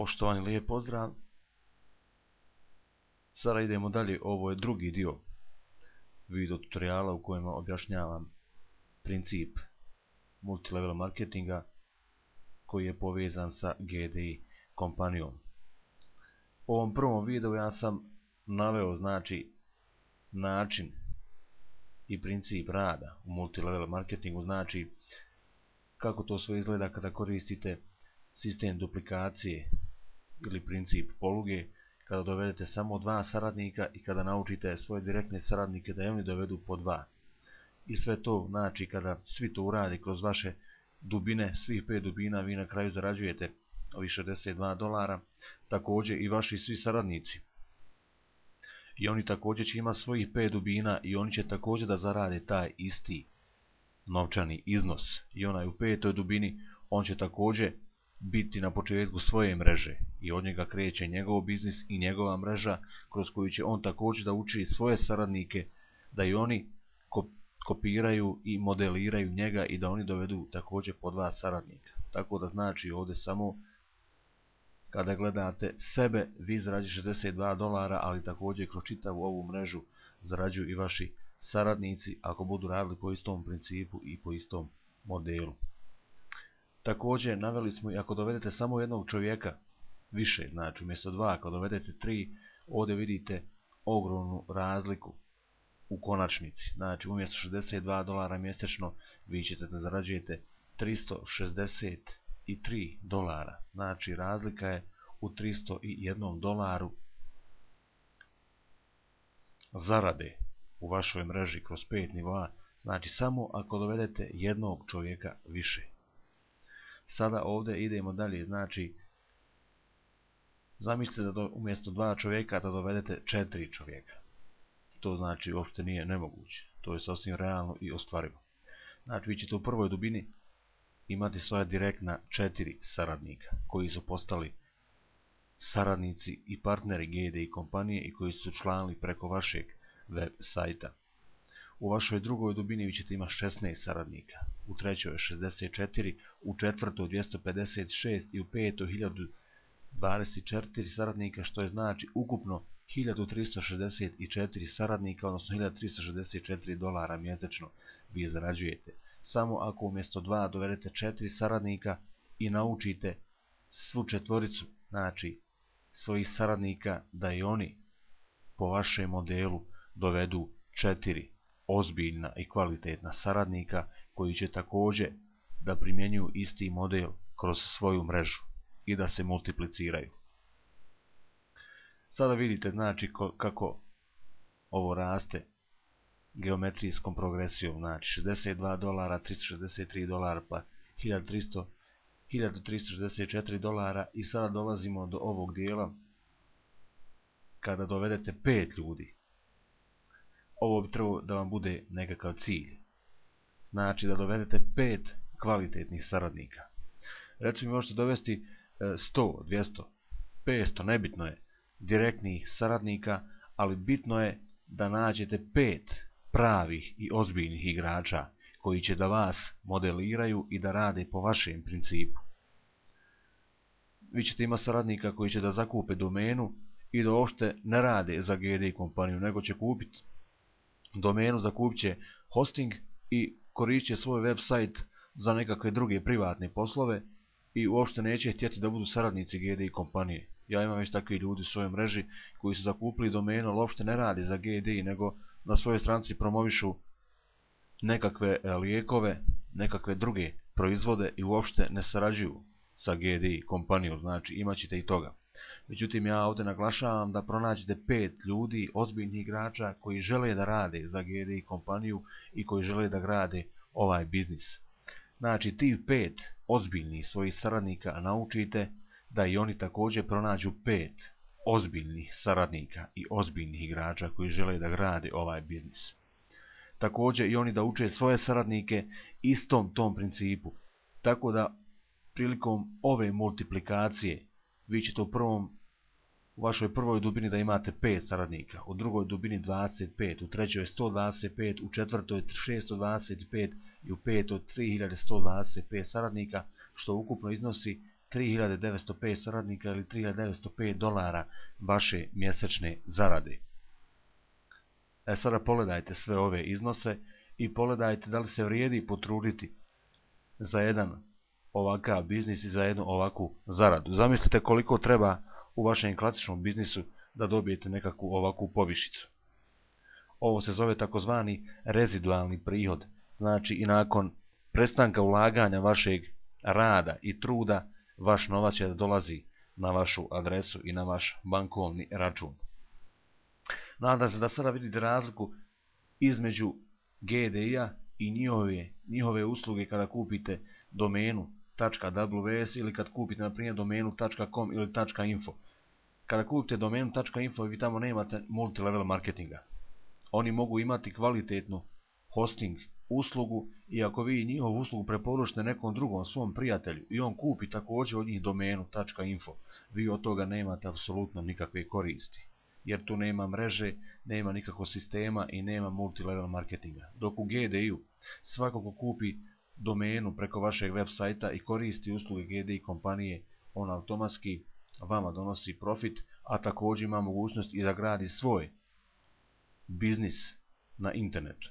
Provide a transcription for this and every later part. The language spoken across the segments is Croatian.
Poštovani, lijep pozdrav. Sada idemo dalje, ovo je drugi dio video tutoriala u kojem objašnjavam princip multilevel marketinga koji je povezan sa GDI kompanijom. U ovom prvom videu ja sam naveo način i princip rada u multilevel marketingu, kako to sve izgleda kada koristite sistem duplikacije ili princip poluge, kada dovedete samo 2 saradnika i kada naučite svoje direktne saradnike da i oni dovedu po 2. I sve to kada svi to urade kroz vaše dubine, svih 5 dubina, vi na kraju zarađujete ovih $62, također i vaši svi saradnici. I oni također će imati svojih 5 dubina i oni će također da zarade taj isti novčani iznos. I onaj u 5. dubini, on će također biti na početku svoje mreže i od njega kreće njegov biznis i njegova mreža kroz koju će on također da uči svoje saradnike da i oni kopiraju i modeliraju njega i da oni dovedu također po 2 saradnika. Tako da ovdje samo kada gledate sebe, vi zarađujete $62, ali također kroz čitavu ovu mrežu zarađuju i vaši saradnici ako budu radili po istom principu i po istom modelu. Također naveli smo i ako dovedete samo jednog čovjeka više, umjesto 2, ako dovedete 3, ovdje vidite ogromnu razliku u konačnici. Umjesto $62 mjesečno vi ćete da zarađujete $363. Razlika je u $301 zarade u vašoj mreži kroz 5 nivoa. Samo ako dovedete jednog čovjeka više. Sada ovdje idemo dalje, zamislite da umjesto 2 čovjeka da dovedete 4 čovjeka. To uopšte nije nemoguće, to je sasvim realno i ostvarivo. Vi ćete u prvoj dubini imati svoja direktna 4 saradnika koji su postali saradnici i partneri GDI kompanije i koji su članili preko vašeg web sajta. U vašoj drugoj dubini vi ćete imati 16 saradnika, u trećoj 64, u četvrtoj 256 i u petoj 1024 saradnika, što je ukupno 1364 saradnika, odnosno $1364 mjesečno vi zarađujete. Samo ako umjesto 2 dovedete 4 saradnika i naučite svu četvoricu, svojih saradnika da i oni po vašem modelu dovedu 4 ozbiljna i kvalitetna saradnika koji će također da primjenjuju isti model kroz svoju mrežu i da se multipliciraju. Sada vidite kako ovo raste geometrijskom progresijom, $62, $363 pa $1364 i sada dolazimo do ovog dijela kada dovedete 5 ljudi. Ovo bi trebalo da vam bude nekakav cilj. Da dovedete 5 kvalitetnih saradnika. Recimo možete dovesti 100, 200, 500, nebitno je, direktnih saradnika, ali bitno je da nađete 5 pravih i ozbiljnih igrača koji će da vas modeliraju i da rade po vašem principu. Vi ćete imati saradnika koji će da zakupe domenu i da uopšte ne rade za GDI kompaniju, nego će kupiti domenu, zakupit će hosting i koristit će svoj web sajt za nekakve druge privatne poslove i uopšte neće htjeti da budu saradnici GDI kompanije. Ja imam već takvi ljudi u svojoj mreži koji su zakupili domenu, ali uopšte ne radi za GDI, nego na svojoj stranici promovišu nekakve lijekove, nekakve druge proizvode i uopšte ne sarađuju sa GDI kompanijom, imat ćete i toga. Međutim, ja ovdje naglašavam da pronađete 5 ljudi, ozbiljnih igrača koji žele da rade za GDI kompaniju i koji žele da grade ovaj biznis. Tih 5 ozbiljnih svojih saradnika naučite da i oni također pronađu 5 ozbiljnih saradnika i ozbiljnih igrača koji žele da grade ovaj biznis. Također i oni da uče svoje saradnike istom tom principu. Tako da prilikom ove multiplikacije vi ćete u vašoj prvoj dubini da imate 5 saradnika, u drugoj dubini 25, u trećoj 125, u četvrtoj 625 i u petoj 3125 saradnika, što ukupno iznosi 3905 saradnika ili 3905 dolara vaše mjesečne zarade. Sada pogledajte sve ove iznose i pogledajte da li se vrijedi potruditi za jedan ovakav biznis i za jednu ovakvu zaradu. Zamislite koliko treba u vašem klasičnom biznisu da dobijete nekakvu ovakvu povišicu. Ovo se zove takozvani rezidualni prihod. Znači i nakon prestanka ulaganja vašeg rada i truda, vaš novac će da dolazi na vašu adresu i na vaš bankovni račun. Nadam se da sada vidite razliku između GDI-a i njihove usluge kada kupite domenu .ws ili kad kupite na primjer domenu .com ili .info. Kada kupite domenu .info vi tamo nemate multilevel marketinga. Oni mogu imati kvalitetnu hosting uslugu i ako vi njihovu uslugu preporučite nekom drugom svom prijatelju i on kupi također od njih domenu .info, vi od toga nemate apsolutno nikakve koristi. Jer tu nema mreže, nema nikakvog sistema i nema multilevel marketinga. Dok u GDI-u svako ko kupi domenu preko vašeg web sajta i koristi usluge GDI kompanije, on automatski vama donosi profit, a također ima mogućnost i da gradi svoj biznis na internetu.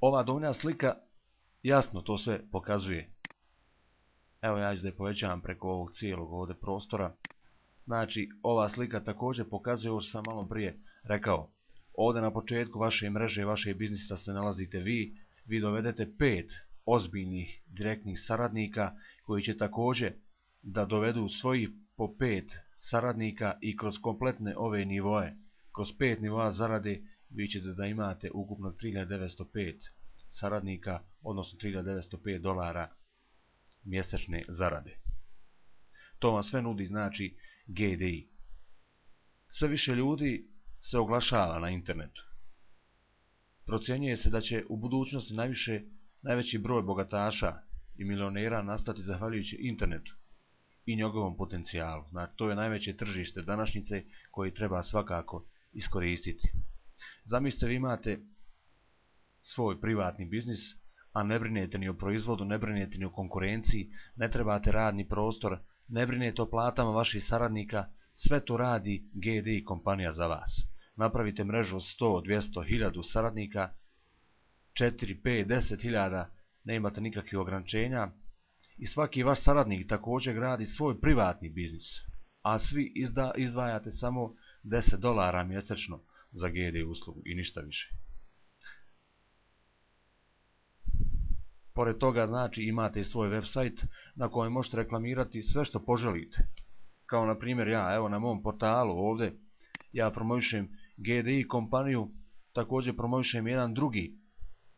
Ova donja slika jasno to sve pokazuje. Evo ja ću da je povećavam preko ovog cijelog ovdje prostora. Znači ova slika također pokazuje ovo što sam malo prije rekao. Ovdje na početku vaše mreže, vaše biznisa se nalazite vi dovedete 5 ozbiljnih direktnih saradnika koji će također da dovedu svojih po 5 saradnika i kroz kompletne ove nivoe, kroz 5 nivoa zarade vi ćete da imate ukupno 3905 saradnika, odnosno 3905 dolara mjesečne zarade. To vam sve nudi znači GDI. Sve više ljudi se oglašava na internetu. Procjenjuje se da će u budućnosti najveći broj bogataša i milionera nastati zahvaljujući internetu i njegovom potencijalu. Znači, to je najveće tržište današnjice koje treba svakako iskoristiti. Zamislite vi imate svoj privatni biznis, a ne brinete ni o proizvodu, ne brinete ni o konkurenciji, ne trebate radni prostor, ne brinete o platama vaših saradnika, sve to radi GDI kompanija za vas. Napravite mrežu od 100, 200, 1000 saradnika, 4, 5, 10 hiljada, ne imate nikakvih ograničenja i svaki vaš saradnik također gradi svoj privatni biznis, a svi izdvajate samo 10 dolara mjesečno za GDI uslugu i ništa više. Pored toga znači imate i svoj website na kojem možete reklamirati sve što poželite. Kao na primjer ja, evo na mom portalu ovdje, ja promovišem GDI kompaniju, također promovišem jedan drugi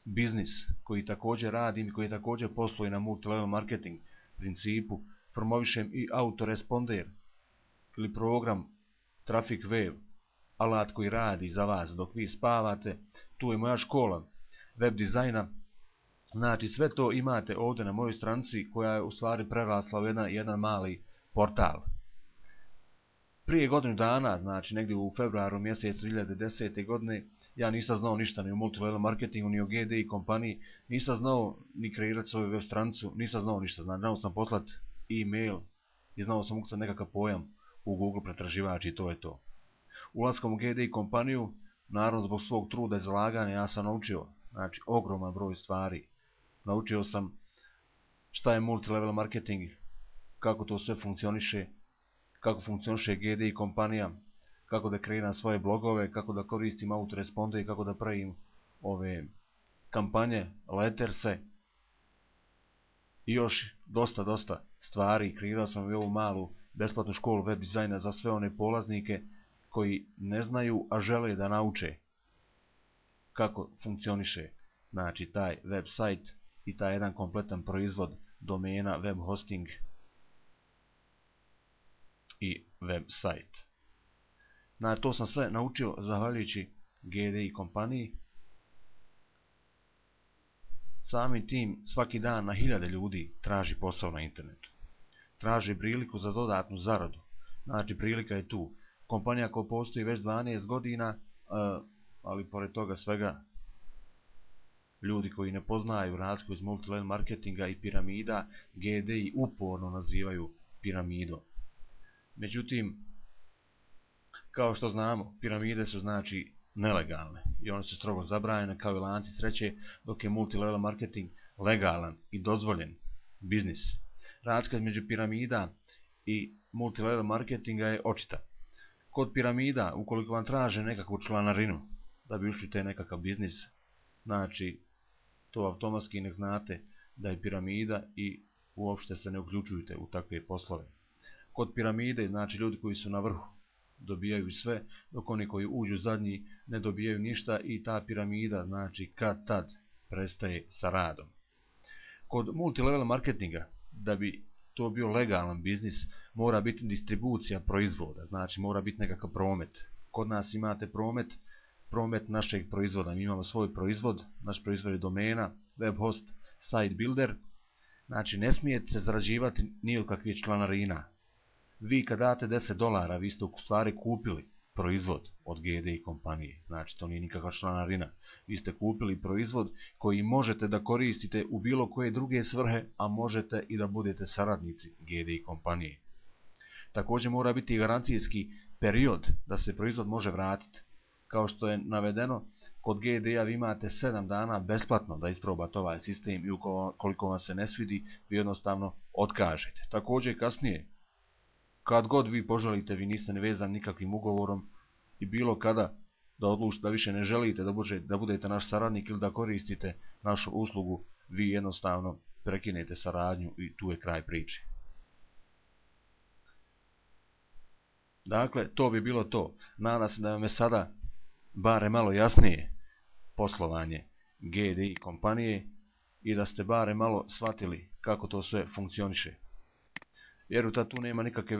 biznis koji također radim i koji također posluje na multilevel marketing principu. Promovišem i autoresponder ili program Traffic Wave, alat koji radi za vas dok vi spavate. Tu je moja škola web dizajna. Znači sve to imate ovdje na mojoj stranici koja je u stvari prerasla u jedan mali portal. Prije godinu dana, znači negdje u februaru mjesecu 2010. godine, ja nisam znao ništa ni o multilevel marketingu, ni o GDI kompaniji, nisam znao ni kreirati svoju web stranicu, nisam znao ništa. Znači, znao sam poslati e-mail i znao sam ukucati nekakav pojam u Google pretraživač i to je to. Ulaskom u GDI kompaniju, naravno zbog svog truda i zalaganja, ja sam naučio znači, ogroman broj stvari. Naučio sam šta je multilevel marketing, kako to sve funkcioniše, kako funkcioniše GDI kompanija, kako da kreiram svoje blogove, kako da koristim autoresponder i kako da pravim ove kampanje, letterse i još dosta stvari. Kreirao sam i ovu malu besplatnu školu web dizajna za sve one polaznike koji ne znaju, a žele da nauče kako funkcioniše znači taj website i taj jedan kompletan proizvod domena, web hosting i website. Znači, to sam sve naučio zahvaljujući GDI kompaniji. Samim tim svaki dan na hiljade ljudi traži posao na internetu. Traži priliku za dodatnu zaradu. Znači, prilika je tu. Kompanija koja postoji već 12 godina, ali pored toga svega Ljudi koji ne poznaju razliku iz multilevel marketinga i piramida, GDI uporno nazivaju piramidom. Međutim, kao što znamo, piramide su znači nelegalne i one su strogo zabranjene kao i lanci sreće, dok je multilevel marketing legalan i dozvoljen biznis. Razlika između piramida i multilevel marketinga je očita. Kod piramida, ukoliko vam traže nekakvu članarinu da bi ušli u taj nekakav biznis, znači to automatski nek znate da je piramida i uopšte se ne uključujete u takve poslove. Kod piramide, znači ljudi koji su na vrhu dobijaju sve, dok oni koji uđu zadnji ne dobijaju ništa i ta piramida, znači kad tad prestaje sa radom. Kod multilevel marketinga, da bi to bio legalan biznis, mora biti distribucija proizvoda, znači mora biti nekakav promet. Kod nas imate promet našeg proizvoda, mi imamo svoj proizvod, naš proizvod je domena, web host, site builder, znači ne smijete se zarađivati ni od kakvih članarina. Vi kad date $10, vi ste u stvari kupili proizvod od GDI kompanije, znači to nije nikakva članarina. Vi ste kupili proizvod koji možete da koristite u bilo koje druge svrhe, a možete i da budete saradnici GDI kompanije. Također mora biti garancijski period da se proizvod može vratiti. Kao što je navedeno, kod GDI-a vi imate 7 dana besplatno da isprobate ovaj sistem i ukoliko vam se ne svidi, vi jednostavno otkažete. Također kasnije, kad god vi poželite, vi niste nevezani nikakvim ugovorom i bilo kada da odlučite da više ne želite da budete naš saradnik ili da koristite našu uslugu, vi jednostavno prekinete saradnju i tu je kraj priče. Dakle, to bi bilo to. Nadam se da vam je sada bare malo jasnije poslovanje GDI kompanije i da ste bare malo shvatili kako to sve funkcioniše. Jer tu nema nikakve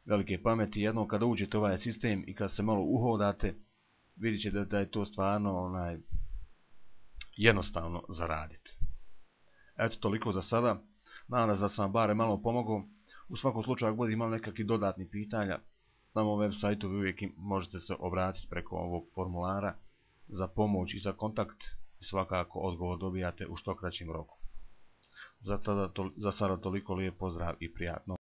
velike pameti. Jednom kada uđete u ovaj sistem i kad se malo uhodate, vidjet ćete da je to stvarno jednostavno zaraditi. Eto, toliko za sada. Nadam se da sam vam bare malo pomogao. U svakom slučaju, ako bude imali nekakvih dodatnih pitanja, na mom web sajtu vi uvijek možete se obratiti preko ovog formulara za pomoć i za kontakt i svakako odgovor dobijate u što kraćim roku. Za sada toliko, lijep pozdrav i prijatno.